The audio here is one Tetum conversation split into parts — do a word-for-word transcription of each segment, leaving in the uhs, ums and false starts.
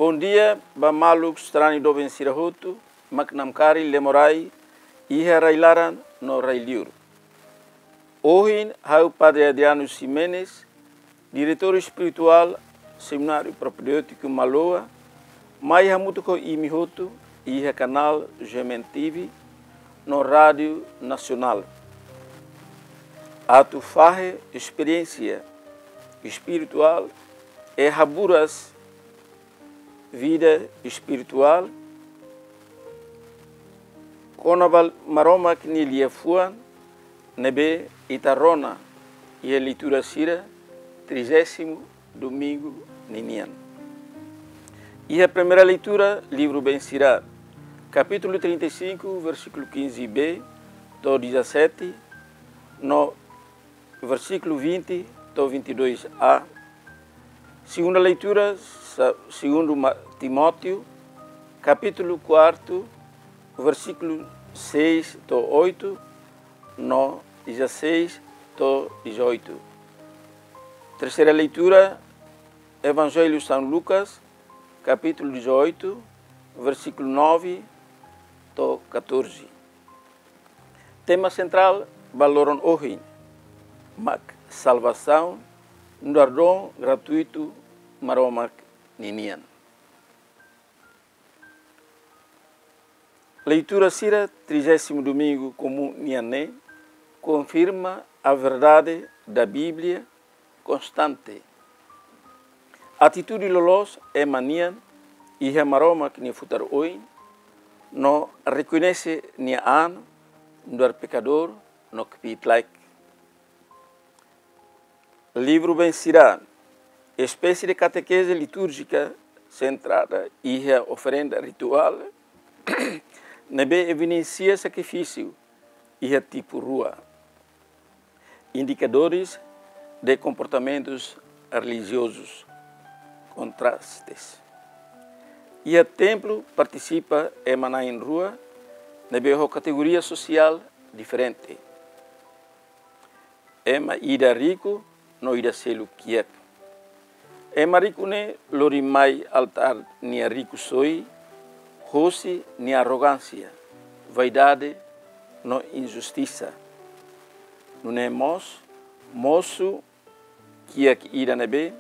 Bondia ba maluk sarani doben sira hotu mak namkari lemorai iha rai-laran no rai-liur. Ohin ha'u Padre Adriano Ximenes, diretór espirituál Semináriu Propedêutiku Maloa, mai hamutuk ho imi hotu iha kanál G M N T V no Rádiu Nasionál, atu fahe esperiénsia espirituál e haburas vida espirituál kona-ba Maromak nia liafuan ne'ebé ita rona iha leitura sira trigésimo domingu ninian. Iha primeira leitura, livru Bem Sirá, kapítulu trinta e cinco, versíkulu quinze b to'o dezassete, no versíkulu vinte to'o vinte e dois a. Segunda leitura, sa-, segundo Ma-, Timóteo, kapítulu quatro, versíkulu seis to'o oito, no dezasseis to'o dezoito. Terceira leitura, Evangelho São Lucas, kapítulu dezoito, versíkulu nove to'o catorze. Tema sentrál ba loron ohin mak salvasaun nu'udar don gratuitu Maromak ninian. Leitura sira trigésimo domingu komún nian ne'e konfirma a verdade da Bíblia konstante. Atitude loloos ema nian iha Maromak nia futar oin, no rekoñese nia an nu'udar pekadór no kbiit-laek. Livru Bem Sirá, espésie de katekeze litúrjika sentrada iha oferenda rituál, ne'ebé evidensia sakrifísiu iha tipu rua. Indikadores de comportamentos religiosos, contrastes. Iha templu partisipa ema na'in-rua ne'ebé ho kategoria sosiál diferente. Ema ida riku no ida seluk kiak. Ema riku ne'e lori mai altár nia riku-soin hosi nia arrogánsia, vaidade no injustisa. Nune'e mós mosu kiak ida ne'ebé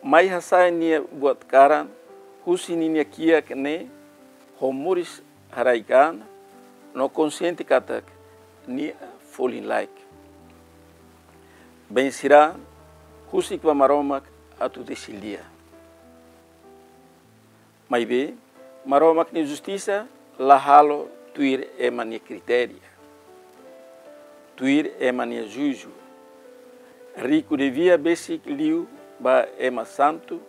mai hasa'e nia buat karan husi ninia kiak ne'e ho moris haraik an no konxiente katak nia folin-laek. Bem Sirá husik ba Maromak atu tesi lia. Maibé, Maromak nia justisa la halo tuir ema nia kritéria, tuir ema nia juízu. Riku devia besik liu ba ema santu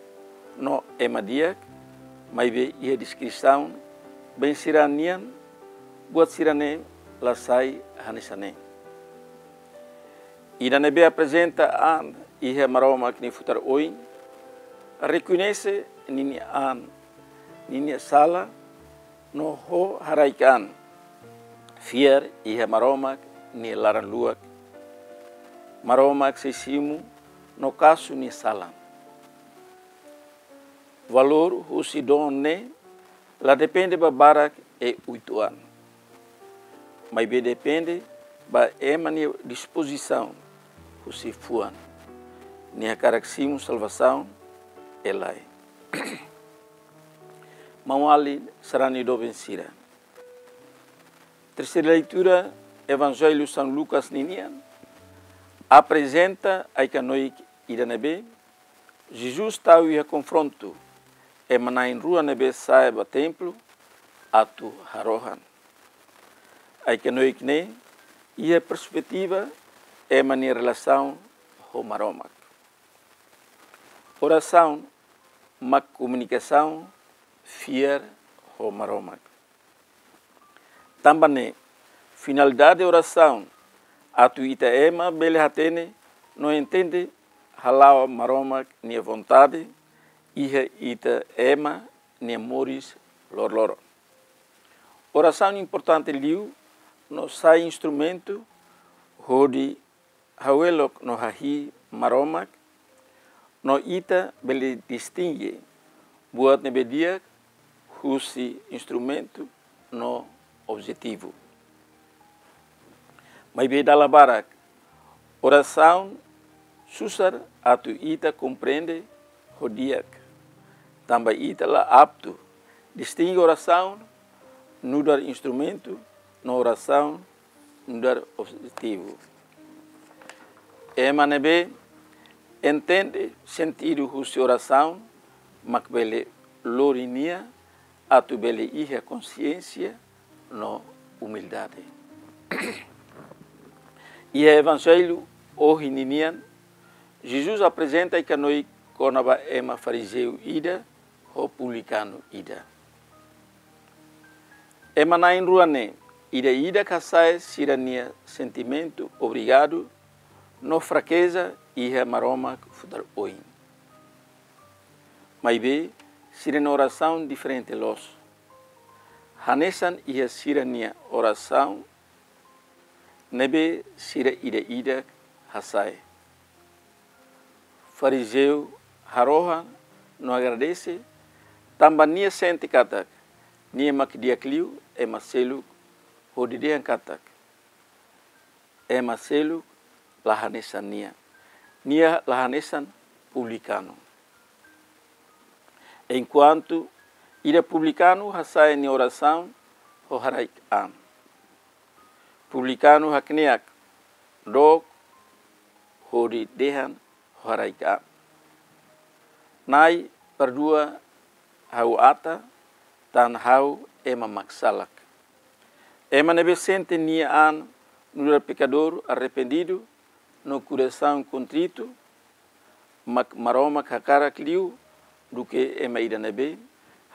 no ema di'ak, maibé iha deskrisaun Bem Sirá nian, buat sira-ne'e la sai hanesan ne'e. Ida ne'ebé aprezenta an iha Maromak nia futar oin, rekoñese ninia an, ninia sala, no ho haraik an fiar iha Maromak nia laran-luak. Maromak sei simu no kasu nia salan. Valór husi don ne'e la depende ba barak e uitoan, maibé depende ba ema nia dispozisaun husi fuan, nia hakarak simu salvasaun ka lae. Maun-alin sarani doben sira. Terseira leitura, Evanjellu São Lucas ninian aprezenta ai-knoi ida ne'ebé Jesus tau iha konfrontu ema na'in-rua ne'ebé sa'e ba templu atu harohan. Ai-knoi ne'e iha perspetiva ema nia relasaun ho Maromak. Orasaun mak komunikasaun fiar ho Maromak. Tanba ne'e, finalidade orasaun atu ita ema bele hatene no entende hala'o Maromak nia vontade iha ita ema nia moris loroloron. Orasaun importante liu no sai instrumentu hodi hawelok no hahi'i Maromak, no ita bele distinge buat ne'ebé di'ak husi instrumentu no objetivu. Maibé dala barak, orasaun susar atu ita komprende ho di'ak, tanba ita la aptu distinge orasaun nu'udar instrumentu no orasaun nu'udar objetivu. Ema ne'ebé entende sentidu husi orasaun mak bele lori nia atu bele iha konsiénsia no umildade. Iha Evanjellu ohin ninian, Jesus aprezenta ai-kanoik kona-ba ema farizeu ida ho publikanu ida. Ema na'in rua ne'e, ida-idak hasa'e sira-nia sentimentu obrigadu no frakeza iha Maromak futar oin. Maibé, sira-nia orasaun diferente loos. Hanesan iha sira-nia orasaun ne'ebé sira ida-idak hasa'e. Farizeu harohan no agradese, tanba nia sente katak nia mak di'ak liu ema seluk hodi dehan katak ema seluk la hanesan nia. Nia la hanesan publikanu. Enkuantu ida publikanu hasa'e nia orasaun ho haraik an. Publikanu hakne'ak dook hodi dehan ho haraik an: Na'i, perdua ha'u ata, tan ha'u ema mak salak. Ema ne'ebé sente nia an nu'udar pekadór arrependidu no korasaun kontritu, mak Maromak hakarak liu duké ema ida ne'ebé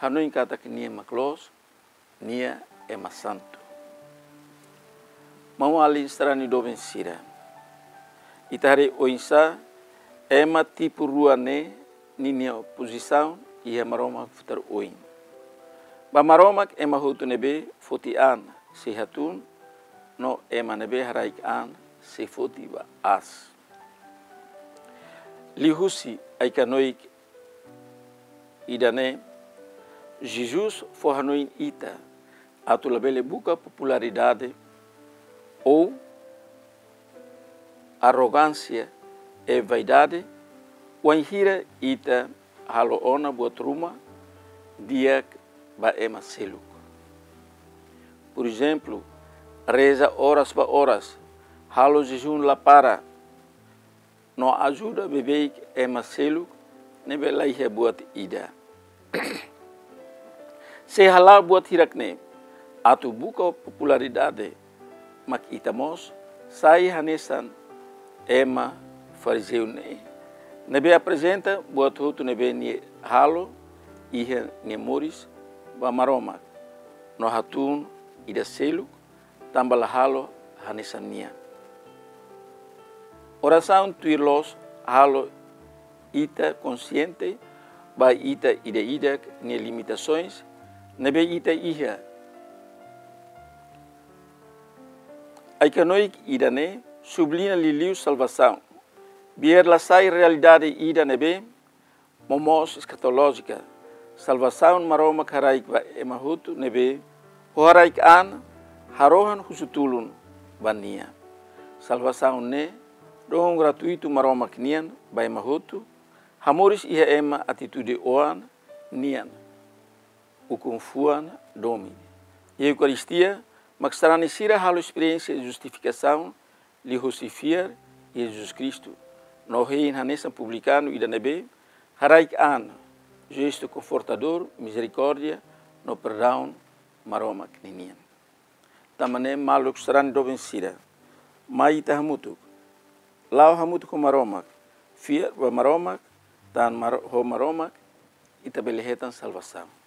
hanoin katak nia mak loos, nia ema santu. Maun-alin sarani doben sira, ita haree oinsá ema tipu rua ne'e ninia pozisaun iha Maromak futar oin. Ba Maromak, ema hotu ne'ebé foti an sei hatún, no ema ne'ebé haraik an sei foti ba aas. Liuhusi ai-kanoik ida-ne'e, Jesus fó hanoin ita atu labele buka popularidade ou arrogánsia i vaidade, wainhira ita halo ona buat ruma di'ak ba ema seluk. Por ezemplu, reza oras ba oras, halo jejún la para, no ajuda beibeik ema seluk ne'ebé la iha buat ida. Se hala'o buat hirak-ne'e atu buka popularidade, mak ita mós sai hanesan ema farizeu ne'e, ne'ebé aprezenta buat hotu ne'ebé nia halo iha nia moris ba Maromak, no hatún ida seluk tanba la halo hanesan nia. Orasaun tuir loos halo ita konsiente ba ita ida-idak nia limitasoens ne'ebé ita iha. Ai-kanoik ida-ne'e subliña liuliu salvasaun. Biar la sai realidade ida ne'ebé momoos eskatolójika, salvasaun Maromak haraik ba ema hotu ne'ebé ho haraik an harohan husu tulun ba nia. Salvasaun ne'e don gratuitu Maromak nian ba ema hotu, hamoris iha ema atitude oan nian, ukun-fuan domin. Iha Eukaristia, mak sarani sira halo esperiénsia justifikasaun liuhusi fiar iha Jesus Kristu, no hein hanesan publikanu ida ne'ebé haraik an jestu konfortadór, mizerikórdia no perdaun Maromak ninian. Tanba ne'e maluk sarani doben sira, mai ita hamutuk, la'o hamutuk ho Maromak, fiar ba Maromak, tan Maro-, ho Maromak ita bele hetan salvasaun.